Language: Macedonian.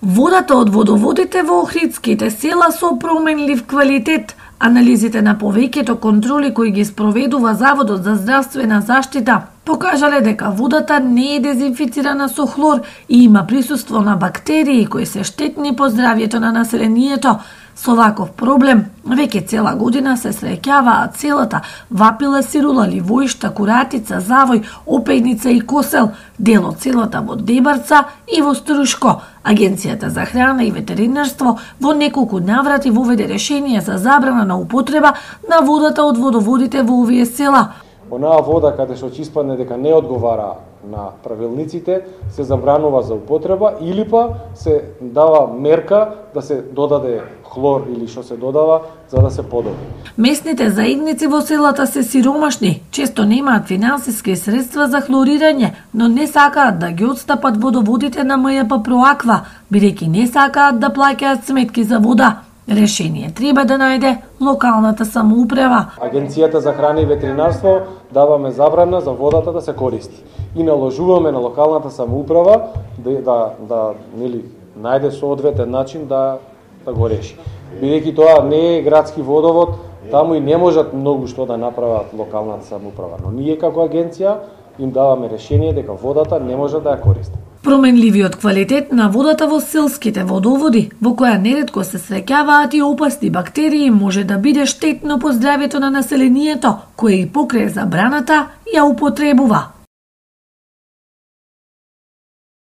Водата од водоводите во охридските села со променлив квалитет. Анализите на повеќето контроли кои ги спроведува Заводот за здравствена заштита покажале дека водата не е дезинфицирана со хлор и има присуство на бактерии кои се штетни по здравјето на населението. Со ваков проблем, веќе цела година се среќаваат селата Вапила, Сирула, Ливоишта, Куратица, Завој, Опејница и Косел, дел од селата во Дебарца и во Струшко. Агенцијата за храна и ветеринарство во неколку наврати воведе решение за забрана на употреба на водата од водоводите во овие села. Онаа вода каде што ќе испадне дека не одговара на правилниците, се забранува за употреба или па се дава мерка да се додаде хлор или што се додава за да се подобри. Местните заедници во селата се сиромашни, често немаат финансиски средства за хлорирање, но не сакаат да ги отстапат водоводите на МЈП Проаква, бидејќи не сакаат да плаќаат сметки за вода. Решение треба да најде локалната самоуправа. Агенцијата за храна и ветеринарство даваме забрана за водата да се користи и наложуваме на локалната самоуправа да најде соодветен начин да го реши. Бидејќи тоа не е градски водовод, таму и не можат многу што да направат локалната самоуправа, но ние како агенција им даваме решение дека водата не може да ја користи. Променливиот квалитет на водата во селските водоводи, во која неретко се среќаваат и опасни бактерии, може да биде штетно по здравјето на населението, кое и покрај забраната ја употребува.